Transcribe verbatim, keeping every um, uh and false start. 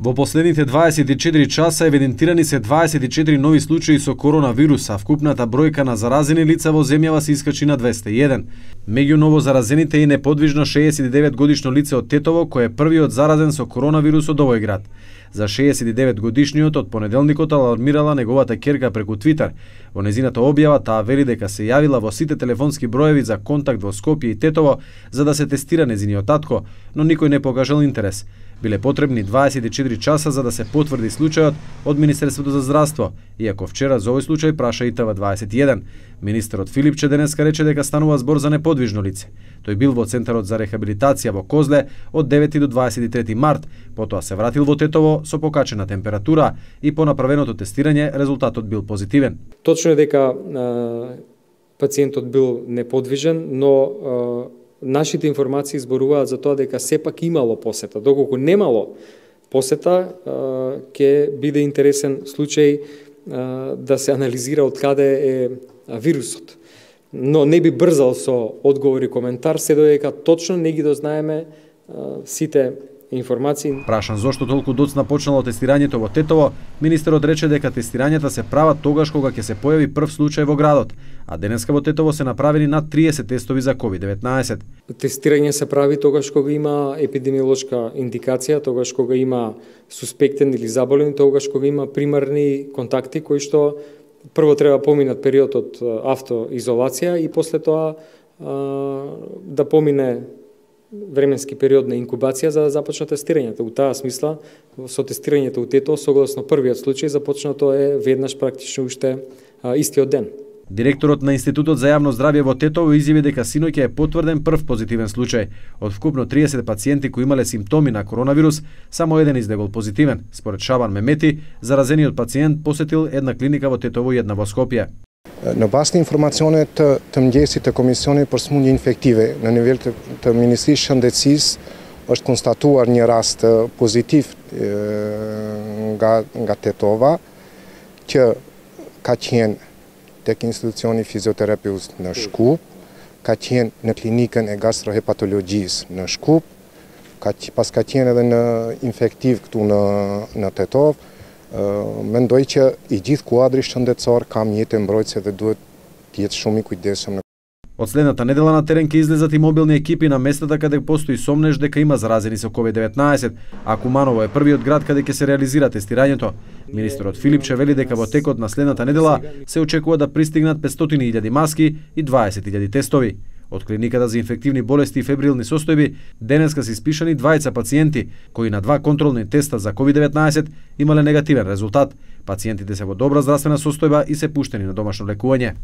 Во последните дваесет и четири часа евидентирани се дваесет и четири нови случаи со коронавирус, а вкупната бројка на заразени лица во земјава се искачи на двесте и еден. Меѓу ново заразените е неподвижно шеесет и девет годишно лице од Тетово, кој е првиот заразен со коронавирус од овој град. За шеесет и девет годишниот од понеделникот алармирала неговата ќерка преку Твитер. Во незината објава таа вели дека се јавила во сите телефонски броеви за контакт во Скопје и Тетово за да се тестира незиниот татко, но никој не покажал интерес. Биле потребни дваесет и четири часа за да се потврди случајот од Министерството за здравство, иако вчера за овој случај праша и Т В дваесет и еден. Министерот Филипче денеска рече дека станува збор за неподвижно лице. Тој бил во Центарот за рехабилитација во Козле од девети до дваесет и трети март, потоа се вратил во Тетово со покачена температура и по направеното тестирање резултатот бил позитивен. Точно е дека а, пациентот бил неподвижен, но а, нашите информации зборуваат за тоа дека сепак имало посета. Доколку немало посета, ќе биде интересен случај да се анализира од каде е вирусот. Но не би брзал со одговор и коментар, се додека точно не ги дознаеме сите информации. Прашан зошто толку доцна почнало тестирањето во Тетово, министерот рече дека тестирањата се прават тогаш кога ќе се појави прв случај во градот, а денеска во Тетово се направени над триесет тестови за ковид деветнаесет. Тестирање се прави тогаш кога има епидемиолошка индикација, тогаш кога има суспектен или заболен, тогаш кога има примарни контакти кои што прво треба поминат период од автоизолација и после тоа а, да помине временски период на инкубација за да започне тестирањето. У таа смисла, со тестирањето у Тетово, согласно првиот случај, започнато е веднаш практично уште а, истиот ден. Директорот на Институтот за јавно здравје во Тетово изјави дека синоќа е потврден прв позитивен случај. Од вкупно триесет пациенти кои имале симптоми на коронавирус, само еден излегол позитивен. Според Шабан Мемети, заразениот пациент посетил една клиника во Тетово и една во Скопје. Në bazë të informacionit të, të mëngjesit të Komisionit për Sëmundje Infektive në nivel të, të Ministrisë së Shëndetësisë është konstatuar një rast pozitiv e, nga nga Tetova që ka qenë tek institucioni fizioterapeut në Shkup, ka qenë në klinikën e gastrohepatologjisë në Shkup, ka pas ka qenë edhe në infektiv këtu në në Tetov. Mendoj që i gjithë kuadri shëndetësor ka mjete mbrojtëse dhe duhet të jetë shumë i kujdesshëm. Од следната недела на терен ќе излезат и мобилни екипи на местата каде постои сомнеж дека има заразени со ковид деветнаесет, а Куманово е првиот град каде ќе се реализира тестирањето. Министерот Филипче вели дека во текот на следната недела се очекува да пристигнат петстотини илјади маски и дваесет илјади тестови. Од клиниката за инфективни болести и фебрилни состојби денеска се испишани двајца пациенти кои на два контролни теста за ковид деветнаесет имале негативен резултат. Пациентите се во добра здравствена состојба и се пуштени на домашно лекување.